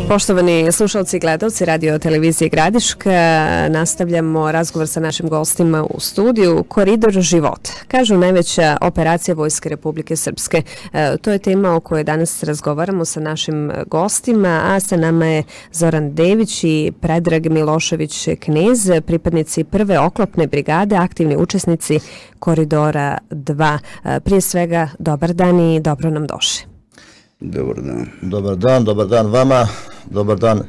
Poštovani slušalci i gledalci radio televizije Gradiška, nastavljamo razgovor sa našim gostima u studiju. Koridor života, kažu najveća operacija Vojske Republike Srpske. To je tema o kojoj danas razgovaramo sa našim gostima, a sa nama je Zoran Dević i Predrag Milošević Knez, pripadnici prve oklopne brigade, aktivni učesnici Koridora 2. Prije svega, dobar dan i dobro nam došli. Dobar dan. Dobar dan vama, dobar dan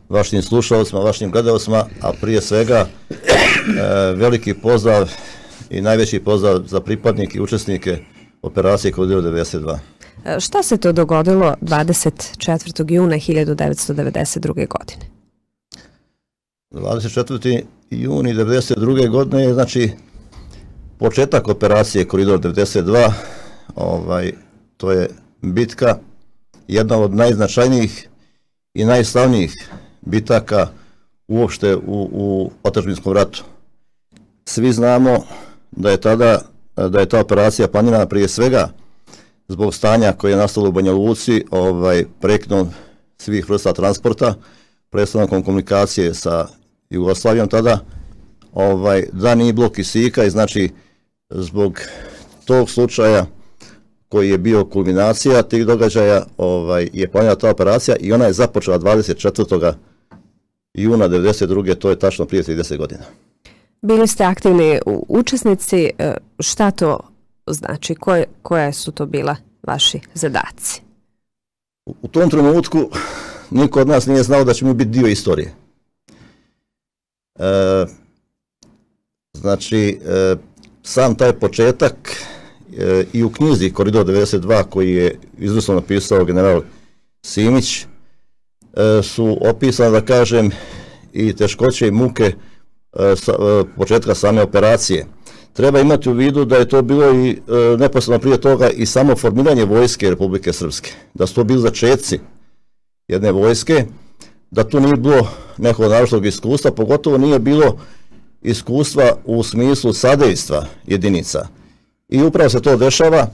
vašim slušalcima, vašim gledalcima, a prije svega veliki pozdrav i najveći pozdrav za pripadnike i učesnike operacije Koridor 92. Šta se to dogodilo 24. juna 1992. godine? 24. juni 1992. godine je znači početak operacije Koridor 92. To je bitka, jedna od najznačajnijih i najslavnijih bitaka uopšte u otadžbinskom ratu. Svi znamo da je ta operacija planirana prije svega zbog stanja koje je nastalo u Banja Luci, prekidom svih vrsta transporta, prestankom komunikacije sa Jugoslavijom tada, da nije bilo kisika i znači zbog tog slučaja koji je bio kulminacija tih događaja, je planirana ta operacija i ona je započela 24. juna 1992. To je tačno prije 30 godina. Bili ste aktivni učesnici, šta to znači, koje su to bila vaši zadaci? U tom trenutku niko od nas nije znao da ćemo biti dio istorije. Znači, sam taj početak i u knjizi Koridor 92 koji je izvrsno napisao general Simić su opisane, da kažem, i teškoće i muke početka same operacije. Treba imati u vidu da je to bilo i neposredno prije toga i samo formiranje Vojske Republike Srpske, da su to bili začetci jedne vojske, da tu nije bilo nekog naročitog iskustva, pogotovo nije bilo iskustva u smislu sadejstva jedinica. I upravo se to dešava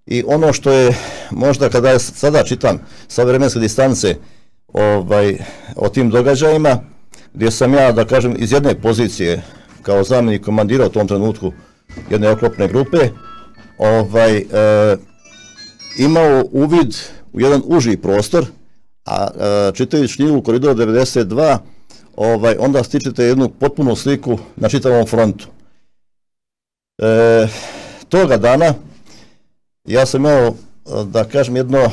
i ono što je možda kada ja sada čitam sa vremenske distance o tim događajima, gdje sam ja, da kažem, iz jedne pozicije kao zamjenik komandira u tom trenutku jedne oklopne grupe, imao uvid u jedan uži prostor, a čitajući knjigu Koridor 92, onda stičete jednu potpunu sliku na čitavom frontu. Toga dana ja sam imao, da kažem, jedno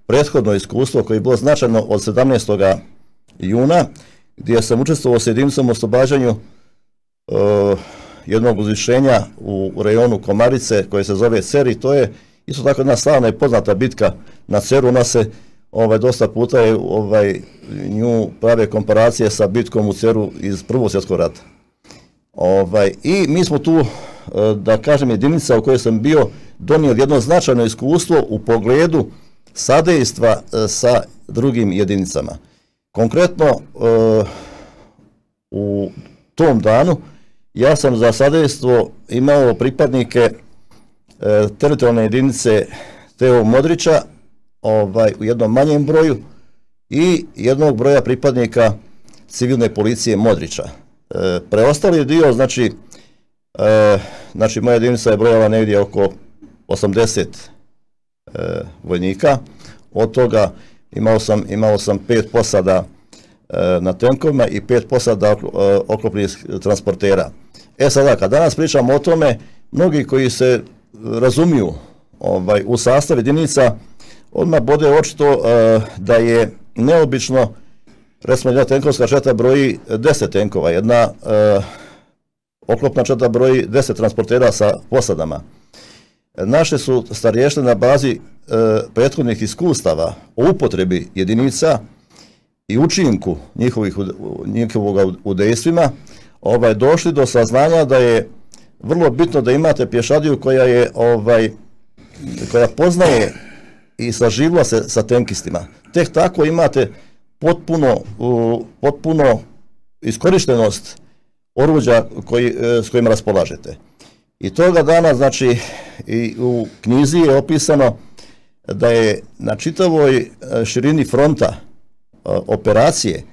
prethodno iskustvo koje je bilo značajno od 17. juna, gdje sam učestvovao s jedinicom u oslobađanju jednog uzvišenja u rejonu Komarice koje se zove Cer, i to je isto tako jedna slavna i poznata bitka na Ceru. Ona se dosta puta je nju prave komparacije sa bitkom u Ceru iz Prvog svjetskog rata. I mi smo tu, da kažem, jedinica u kojoj sam bio donio jedno značajno iskustvo u pogledu sadejstva sa drugim jedinicama. Konkretno, u tom danu ja sam za sadejstvo imao pripadnike teritorijalne jedinice T.O. Modrića u jednom manjem broju i jednog broja pripadnika civilne policije Modrića. Preostali dio, znači moja jedinica je brojala negdje oko 80 vojnika, od toga imao sam 5 posada na tenkovima i 5 posada oklopnih transportera. Sada, kad danas pričamo o tome, mnogi koji se razumiju u sastav jedinica, odmah bode očito da je neobično, recimo jedna tenkovska četa broji 10 tenkova, jedna oklopna četa broji 10 transportera sa posadama. Naše su starješne na bazi prethodnih iskustava o upotrebi jedinica i učinku njihovog u dejstvima došli do saznanja da je vrlo bitno da imate pješadiju koja poznaje i saživla se sa tenkistima. Tek tako imate potpuno iskorištenost oruđa s kojima raspolažete. I toga dana, znači, i u knjizi je opisano da je na čitavoj širini fronta operacije,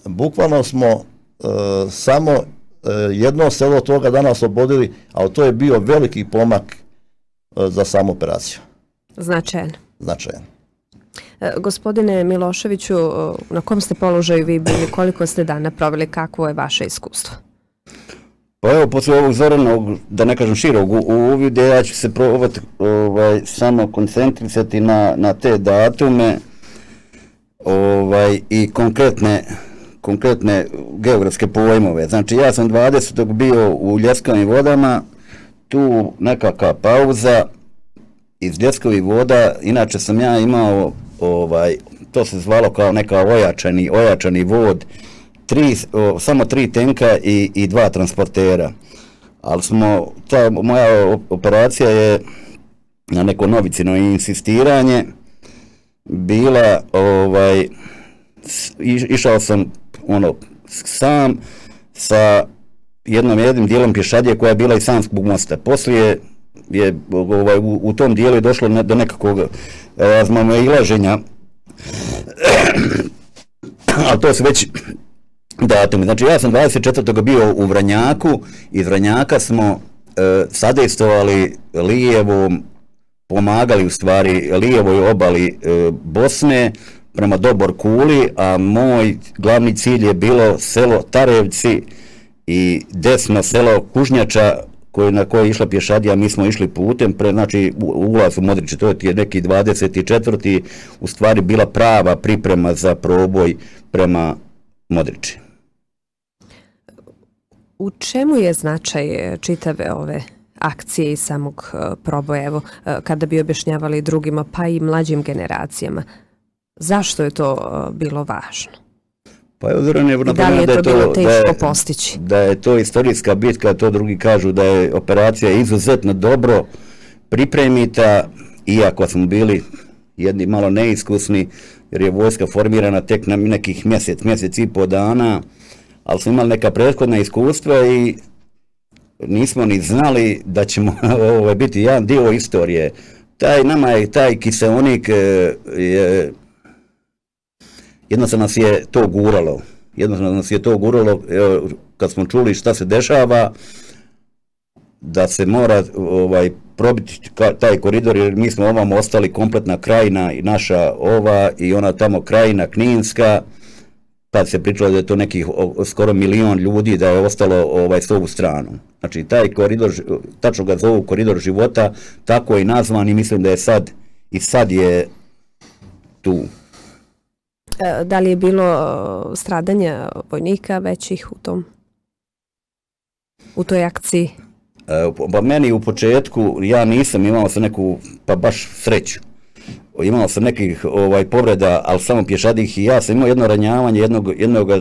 bukvalno smo samo jedno selo toga dana oslobodili, ali to je bio veliki pomak za samu operaciju. Značajan. Značajan. Gospodine Miloševiću, na kom ste položaju vi bili, koliko ste dana proveli, kakvo je vaše iskustvo? Pa evo, posle ovog zoranog, da ne kažem širog uvida, ja ću se probati samo koncentrisati na te datume i konkretne geografske pojmove. Znači, ja sam 20. bio u Ljeskovim vodama, tu nekakva pauza iz Ljeskovih voda, inače sam ja imao, to se zvalo kao neka ojačani vod, samo 3 tenka i 2 transportera. Ali ta moja operacija je na neko novicino insistiranje bila, išao sam sam sa jednim dijelom pješadije koja je bila iz Sanskog mosta. Poslije je u tom dijelu je došlo do nekakvog razmimoilaženja, ali to su već datumi. Znači, ja sam 24. bio u Vranjaku, iz Vranjaka smo sadejstvovali lijevom, pomagali u stvari lijevoj obali Bosne prema Dobor Kuli, a moj glavni cilj je bilo selo Tarevci i desno selo Kužnjača na koje je išla pješadija. Mi smo išli putem, znači ulaz u Modriče, to je neki 24. u stvari bila prava priprema za proboj prema Modriči. U čemu je značaj čitave ove akcije i samog proboja, evo, kada bi objašnjavali drugima, pa i mlađim generacijama? Zašto je to bilo važno? Pa i da li je to bilo teško postići? Da je to istorijska bitka, to drugi kažu da je operacija izuzetno dobro pripremita, iako smo bili jedni malo neiskusni, jer je vojska formirana tek na nekih mjesec i po dana, ali smo imali neka prethodna iskustva i nismo ni znali da ćemo biti jedan dio istorije. Nama je taj kiseonik, jednostavno nas je to guralo, kad smo čuli šta se dešava, da se mora probiti taj koridor, jer mi smo ovam ostali kompletna krajina i naša i ona tamo krajina Kninska, tad se pričalo da je to nekih skoro 1 milion ljudi da je ostalo s ovu stranu. Znači, taj koridor, tačno ga zovu koridor života, tako je i nazvan i mislim da je sad je tu. Da li je bilo stradanja vojnika većih u toj akciji? Pa meni u početku, ja nisam imao sam neku, pa baš sreću. Imao sam nekih povreda, ali samo pješadih, i ja sam imao jedno ranjavanje jednog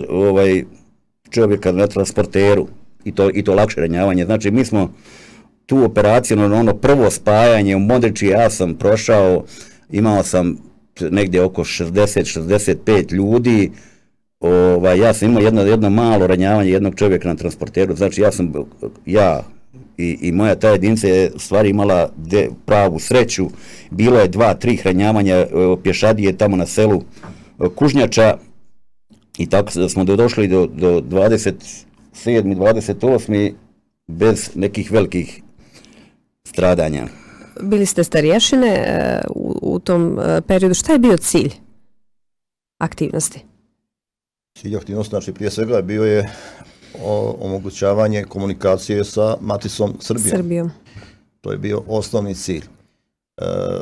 čovjeka na transporteru, i to lakše ranjavanje. Znači, mi smo tu operaciju, ono prvo spajanje u Modriči, ja sam prošao, imao sam negdje oko 60-65 ljudi, ja sam imao jedno malo ranjavanje jednog čovjeka na transporteru. Znači, ja i moja ta jedinica je stvari imala pravu sreću. Bilo je 2-3 ranjavanja pješadije tamo na selu Kužnjača i tako smo došli do 27. 28. bez nekih velikih stradanja. Bili ste starješine u tom periodu. Šta je bio cilj aktivnosti? Cilj aktivnosti, znači, prije svega bio je omogućavanje komunikacije sa maticom Srbijom. To je bio osnovni cilj.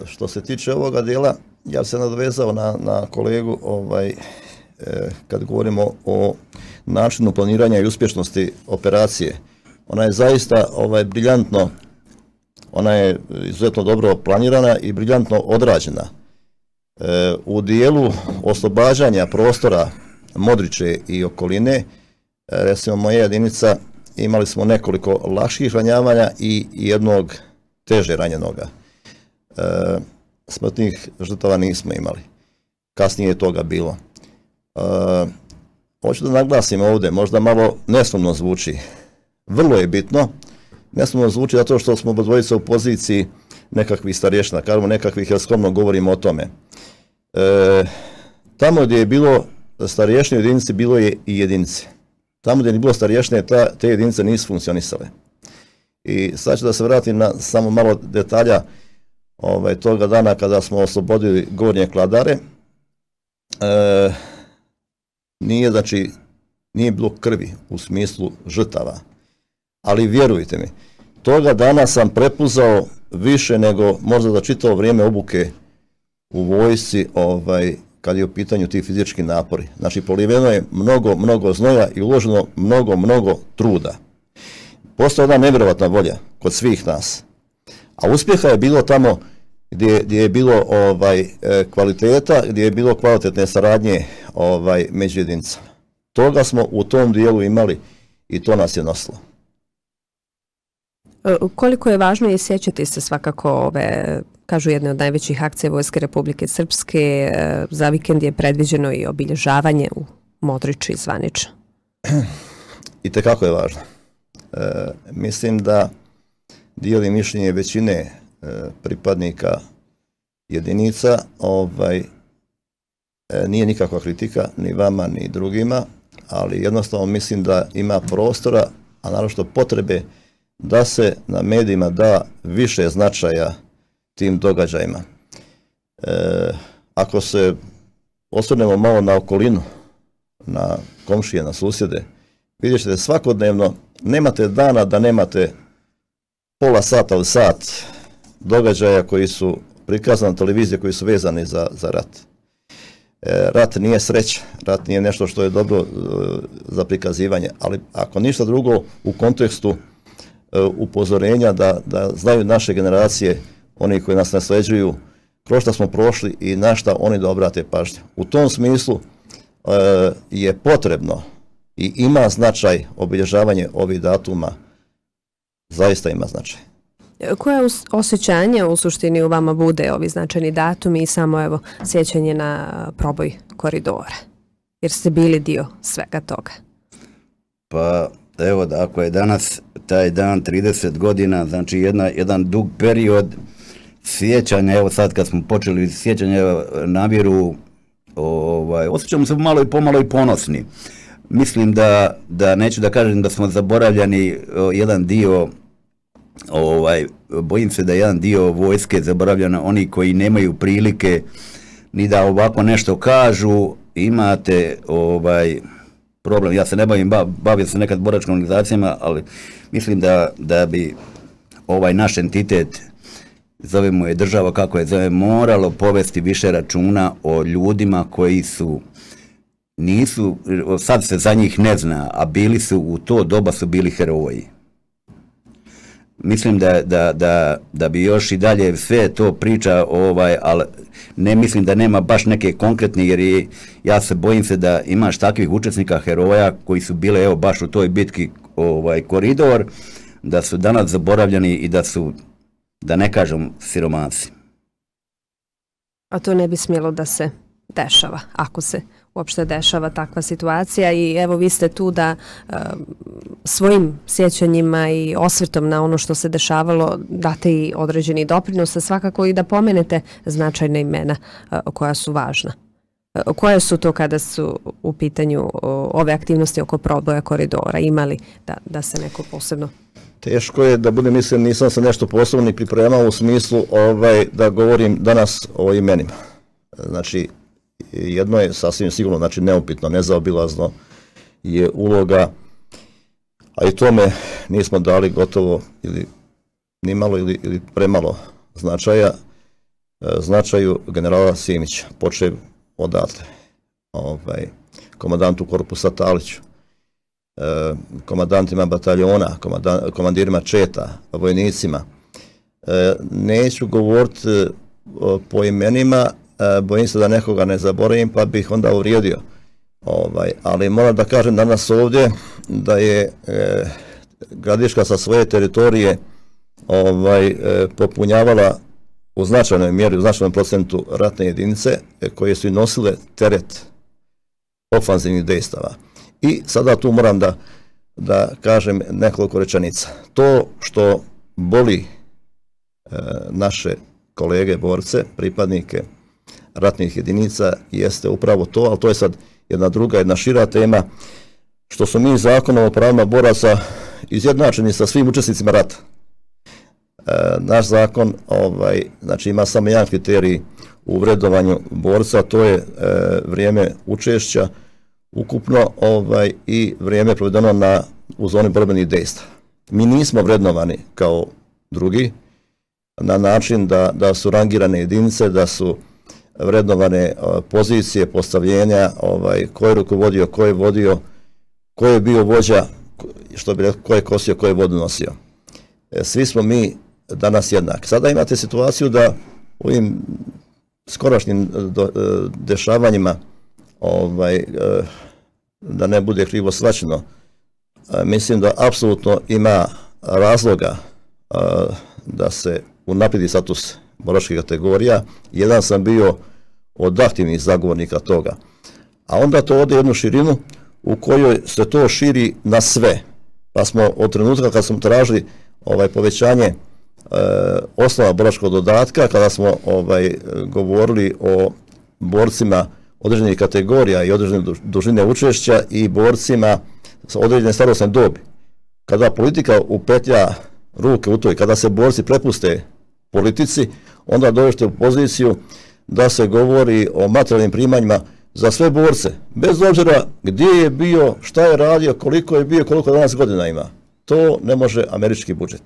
Što se tiče ovoga dijela, ja se nadovezao na kolegu kad govorimo o načinu planiranja i uspješnosti operacije. Ona je zaista briljantno, ona je izuzetno dobro planirana i briljantno odrađena. U dijelu oslobađanja prostora Modriče i okoline, recimo moja jedinica, imali smo nekoliko lakših ranjavanja i jednog teže ranjenoga. Smrtnih žrtava nismo imali. Kasnije je toga bilo. Hoću da naglasim ovdje, možda malo nesumno zvuči. Vrlo je bitno. Nesumno zvuči zato što smo dvojica u poziciji nekakvih starješina, kažemo nekakvih, jer skromno govorimo o tome. Tamo gdje je bilo starješne jedinice, bilo je i jedinice. Tamo gdje je bilo starješne, te jedinice nisu funkcionisale. I sad ću da se vratim na samo malo detalja toga dana kada smo oslobodili Gornje Kladare. Nije bilo krvi u smislu žrtava, ali vjerujte mi, toga dana sam prepuzao više nego možda za čitavo vrijeme obuke u vojsci, kad je u pitanju ti fizički napori. Znači, poliveno je mnogo znoja i uloženo mnogo truda. Postoje jedna nevjerovatna volja kod svih nas, a uspjeha je bilo tamo gdje je bilo kvaliteta, gdje je bilo kvalitetne saradnje među jedinicama. Toga smo u tom dijelu imali i to nas je nosilo. Koliko je važno i sjećati se svakako ove, kažu, jedne od najvećih akcija Vojske Republike Srpske, za vikend je predviđeno i obilježavanje u Modriču i zvanično. I tekako je važno. Mislim da dijeli mišljenje većine pripadnika jedinica, nije nikakva kritika ni vama ni drugima, ali jednostavno mislim da ima prostora, a naročito potrebe da se na medijima da više značaja tim događajima. Ako se osvrnemo malo na okolinu, na komšije, na susjede, vidjet ćete svakodnevno, nemate dana da nemate pola sata ili sat događaja koji su prikazani na televiziji, koji su vezani za rat. Rat nije sreća, rat nije nešto što je dobro za prikazivanje, ali ako ništa drugo u kontekstu upozorenja da znaju naše generacije, oni koji nas nasljeđuju, kroz što smo prošli i na šta oni da obrate pažnju. U tom smislu je potrebno i ima značaj obilježavanje ovih datuma, zaista ima značaj. Koje osjećanje u suštini u vama bude ovi značajni datumi i samo sjećanje na proboj koridora? Jer ste bili dio svega toga. Pa evo, ako je danas taj dan 30 godina, znači jedan dug period sjećanja, evo sad kad smo počeli sjećanje namjeru, osjećamo se pomalo i ponosni. Mislim da neću da kažem da smo zaboravljani jedan dio, bojim se da jedan dio vojske zaboravljena, oni koji nemaju prilike ni da ovako nešto kažu. Imate problem, ja se ne bavio se nekad boračkim organizacijama, ali mislim da bi naš entitet, zovemo je država kako je zove, moralo povesti više računa o ljudima koji nisu, sad se za njih ne zna, a bili su u to doba su bili heroji. Mislim da bi još i dalje sve to priča, ali ne mislim da nema baš neke konkretne, jer ja se bojim se da imaš takvih učesnika heroja koji su bile evo baš u toj bitki Koridor, da su danas zaboravljeni i da su, da ne kažem, siromasi. A to ne bi smjelo da se dešava, ako se uopšte dešava takva situacija, i evo vi ste tu da svojim sjećanjima i osvrtom na ono što se dešavalo date i određeni doprinos, a svakako i da pomenete značajna imena koja su važna. Koje su to kada su u pitanju ove aktivnosti oko proboja koridora? Imali da se neko posebno... Teško je da budem mislim, nisam se nešto posebno ni pripremao u smislu da govorim danas o imenima. Znači, jedno je sasvim sigurno, znači neupitno, nezaobilazno je uloga, a i tome nismo dali gotovo ili nimalo ili premalo značaja, značaju generala Simića, počev odatle, komandantu korpusa Taliću, komandantima bataljona, komandirima četa, vojnicima. Neću govoriti po imenima, bojim se da nekoga ne zaboravim, pa bih onda uvrijedio. Ali moram da kažem danas ovdje da je Gradiška sa svoje teritorije popunjavala u značajnoj mjeri, u značajnom procentu ratne jedinice koje su i nosile teret ofanzivnih dejstava. I sada tu moram da kažem nekoliko rečenica. To što boli naše kolege borce, pripadnike ratnih jedinica jeste upravo to, ali to je sad jedna šira tema, što su mi zakonom o pravima boraca izjednačeni sa svim učesnicima rata. Naš zakon znači ima samo jedan kriterij u vrednovanju borca, to je vrijeme učešća ukupno i vrijeme provedeno u zoni borbenih dejstva. Mi nismo vrednovani kao drugi na način da su rangirane jedinice, da su vrednovane pozicije, postavljenja, ko je rukovodio, ko je vodio, ko je bio vođa, što bi rekao, ko je kosio, ko je vodu nosio. Svi smo mi danas jednaki. Sada imate situaciju da u ovim skorašnjim dešavanjima, da ne bude krivo shvaćeno, mislim da apsolutno ima razloga da se unaprijedi status boračkih kategorija. Jedan sam bio od aktivnih zagovornika toga. A onda to ode jednu širinu u kojoj se to širi na sve. Pa smo od trenutka kad smo tražili povećanje osnova boračkog dodatka, kada smo govorili o borcima određenih kategorija i određene dužine učešća i borcima sa određene starosne dobi. Kada politika upetlja ruke u to i kada se borci prepuste politici, onda dođete u poziciju da se govori o materijalnim primanjima za sve borce, bez obzira gdje je bio, šta je radio, koliko je bio, koliko danas godina ima. To ne može američki budžet.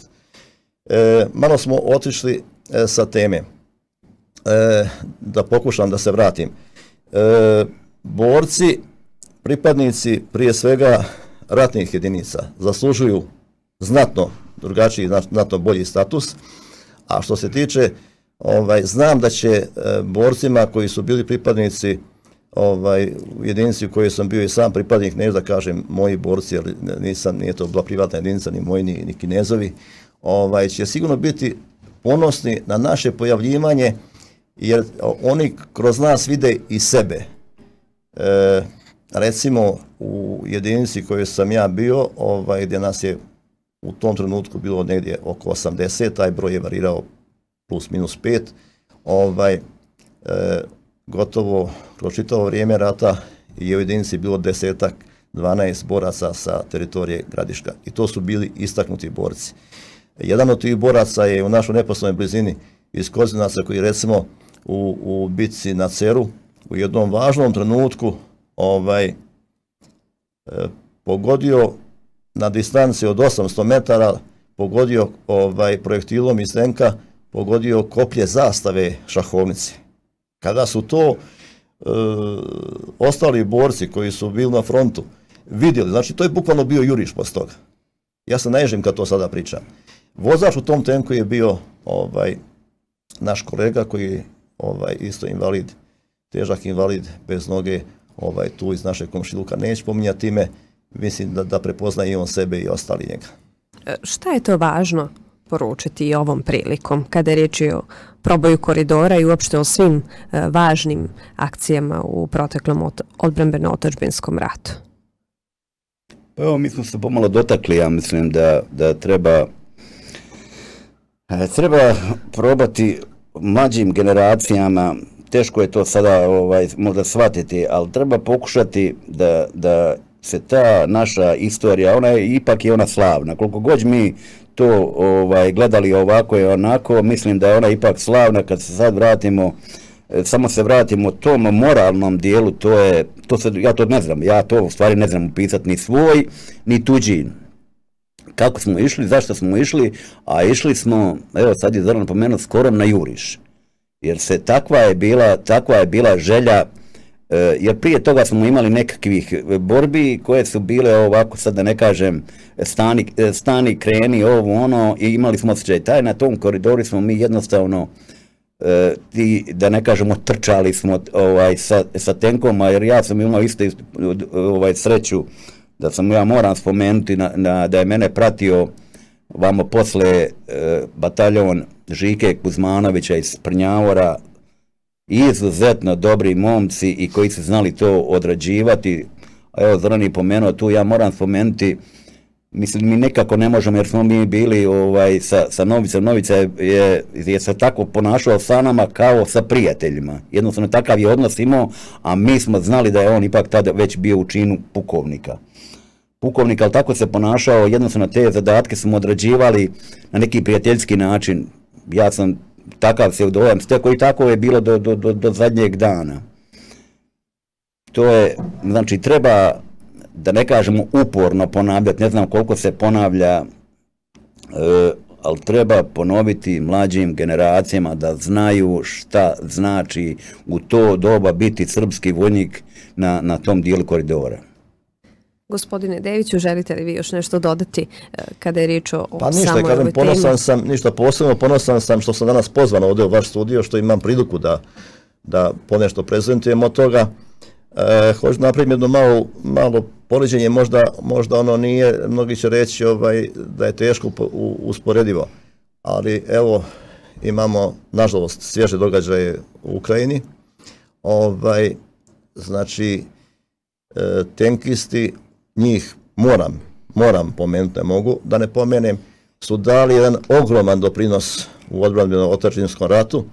Malo smo otišli sa teme. Da pokušam da se vratim. Borci, pripadnici prije svega ratnih jedinica zaslužuju znatno drugačiji, znatno bolji status, a što se tiče, znam da će borcima koji su bili pripadnici u jedinici u kojoj sam bio i sam pripadnik, neću da kažem moji borci, jer nije to bila privatna jedinica, ni moji, ni Kinezovi, će sigurno biti ponosni na naše pojavljivanje, jer oni kroz nas vide i sebe. Recimo u jedinici kojoj sam ja bio, gdje nas je u tom trenutku bilo negdje oko 80, taj broj je varirao plus minus 5, gotovo kroz čitavo vrijeme rata je u jedinici bilo 10-12 boraca sa teritorije Gradiška i to su bili istaknuti borci. Jedan od tih boraca je u našoj neposrednoj blizini iz Kozinaca, koji recimo u bitci na Ceru u jednom važnom trenutku pogodio na distanci od 800 metara, pogodio projektilom iz tenka, pogodio koplje zastave šahovnice. Kada su to ostali borci koji su bili na frontu vidjeli, znači to je bukvalno bio juriš poslije toga. Ja se naježim kad to sada pričam. Vozač u tom tenku je bio naš kolega koji je isto invalid, težak invalid, bez noge, tu iz našeg komšiluka. Neću pominjati ime, mislim da prepoznaje i on sebe i ostali njega. Šta je to važno poručiti i ovom prilikom, kada je riječ o proboju koridora i uopšte o svim važnim akcijama u proteklom odbrambeno-otadžbinskom ratu? Pa evo, mi smo se pomalo dotakli, ja mislim da treba probati mlađim generacijama, teško je to sada možda shvatiti, ali treba pokušati da se ta naša istorija, ipak je ona slavna. Koliko god mi to gledali ovako i onako, mislim da je ona ipak slavna. Kad se sad vratimo, samo se vratimo tom moralnom dijelu, ja to ne znam, ja to u stvari ne znam upisati ni svoj, ni tuđi. Kako smo išli, zašto smo išli, a išli smo, evo sad je Zoran napomenuo, skoro na juriš. Jer se takva je bila želja, jer prije toga smo imali nekakvih borbi koje su bile ovako, sad da ne kažem, stani, kreni, ovo, ono, i imali smo osjećaj. Na tom koridoru smo mi jednostavno, da ne kažemo, trčali smo sa tenkom, jer ja sam imao isto sreću da ja moram spomenuti da je mene pratio vamo posle bataljon Žike Kuzmanovića iz Prnjavora, izuzetno dobri momci i koji su znali to odrađivati. A evo, Zoran je pomenuo tu, ja moram spomenuti mislim, mi nekako ne možemo, jer smo mi bili sa Novicom. Novica je se tako ponašao sa nama kao sa prijateljima. Jednostavno takav je odnos imao, a mi smo znali da je on ipak tada već bio u činu pukovnika. Ali tako se ponašao, jednostavno te zadatke smo odrađivali na neki prijateljski način. Ja sam takav se dojam stekao i tako je bilo do zadnjeg dana. To je, znači, treba, da ne kažemo uporno ponavljati, ne znam koliko se ponavlja, ali treba ponoviti mlađim generacijama da znaju šta znači u to doba biti srpski vojnik na tom dijelu koridora. Gospodine Deviću, želite li vi još nešto dodati kada je riječ o pa ništa, samoj ovoj temi? Ponosan sam, ništa posebno, ponosan sam što sam danas pozvan ovdje u vaš studio, što imam priliku da ponešto prezentujem od toga. Hoću napraviti jedno malo poređenje, možda ono nije, mnogi će reći da je teško usporedivo, ali evo imamo nažalost svježe događaje u Ukrajini. Znači tenkisti, njih moram pomenuti, ne mogu da ne pomenem, su dali jedan ogroman doprinos u odbrambenom otadžbinskom ratu.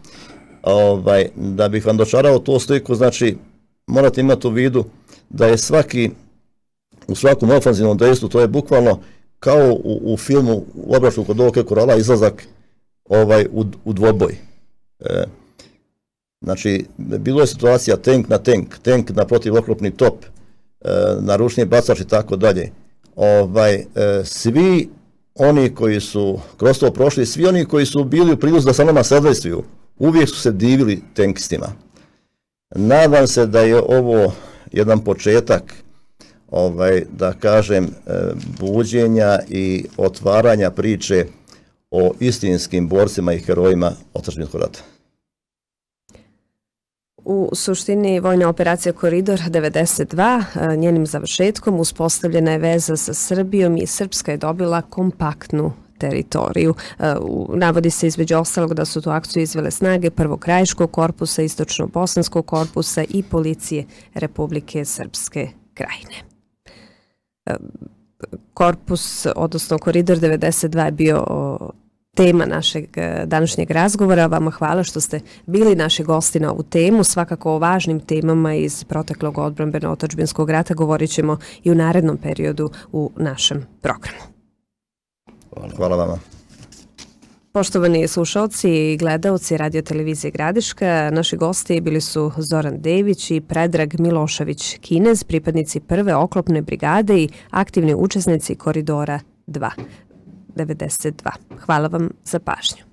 Da bih vam dočarao tu sliku, znači morate imati u vidu da je u svakom ofanzivnom dejstvu, to je bukvalno kao u filmu U obračunu kod Oke Korala, izlazak u dvoboj. Znači, bilo je situacija tank na tank na protivoklopni top, na ručni bacač i tako dalje. Svi oni koji su kroz to prošli, svi oni koji su bili u prilici da sa nama sadejstvuju, uvijek su se divili tankistima. Nadam se da je ovo jedan početak, da kažem, buđenja i otvaranja priče o istinskim borcima i herojima otadžbinskog rata. U suštini vojna operacija Koridor 92, njenim završetkom uspostavljena je veza sa Srbijom i Srpska je dobila kompaktnu teritoriju. Navodi se između ostalog da su tu akciju izvele snage Prvog krajiškog korpusa, Istočno-bosanskog korpusa i policije Republike Srpske Krajine. Korpus, odnosno Koridor 92 je bio tema našeg današnjeg razgovora. Vama hvala što ste bili naši gosti na ovu temu. Svakako o važnim temama iz proteklog odbrambeno-otadžbinskog rata govorit ćemo i u narednom periodu u našem programu. Hvala vama. Poštovani slušalci i gledaoci Radio televizije Gradiška, naši gosti bili su Zoran Dević i Predrag Milošević Kinez, pripadnici prve oklopne brigade i aktivni učesnici Koridora 92. Hvala vam za pažnju.